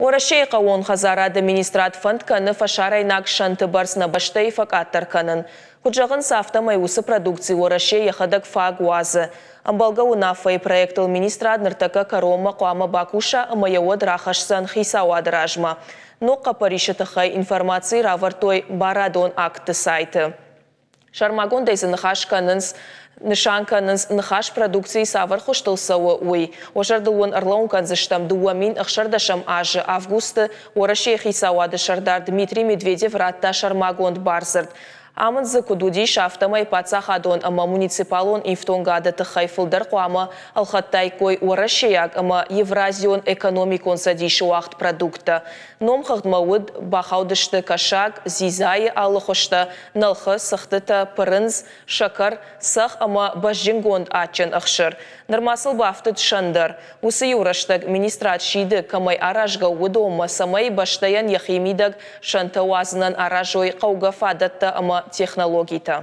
Уӕрӕсейы хъӕууон хӕдзарады министрад фӕнд кӕны фӕсарӕйнаг сӕнты бӕрц нӕ бӕстӕйы фӕкъаддӕр кӕнын. Куыд зӕгъынц, афтӕмӕй уыцы продукци Уӕрӕсе йӕхӕдӕг фаг уадзы. Ӕмбӕлгӕ уынаффӕйы проектыл министрад ныртӕккӕ кӕронмӕ хъуамӕ бакуса ӕмӕ йӕ уӕд рахӕсдзӕн хицауады размӕ. Ног хъӕппӕрисы тыххӕй информаци равӕрдтой барадон актты сайты. Сӕрмагондӕй дзы ныхас кӕнынц нысан кӕнынц, ныхас продукцийы цавӕр хуызтыл цӕуы, уый. Уӕ зӕрдыл уын ӕрлӕууын кӕндзыстӕм, 2016 азы августы Уӕрӕсейы хицауады сӕрдар Дмитрий Медведев радта сӕрмагонд бардзырд. Амынд дзы куыд уыдис, афтӕмӕй паддзахадон ӕмӕ муниципалон ифтонгады тыххӕй фылдӕр хъуамӕ ӕлхӕдтаиккой уӕрӕсейаг ӕмӕ Евразион экономикон цӕдисы уагъд продукттӕ. Номхыгъдмӕ уыд бахаудысты кӕсаг, дзидзайы алы хуызтӕ, нӕлхы, цыхтытӕ, пырындз, сӕкӕр, цӕхх ӕмӕ бӕзджынгонд адджын ӕхсыр. Нырма сыл бафтыд сӕн дӕр. Уыцы иу рӕстӕг министрад сиды, кӕмӕй аразгӕ у, уыдонмӕ, цӕмӕй бӕстӕйӕн йӕхи мидӕг сӕнтӕ уадзынӕн аразой хъӕугӕ фадӕттӕ ӕмӕ технологитӕ.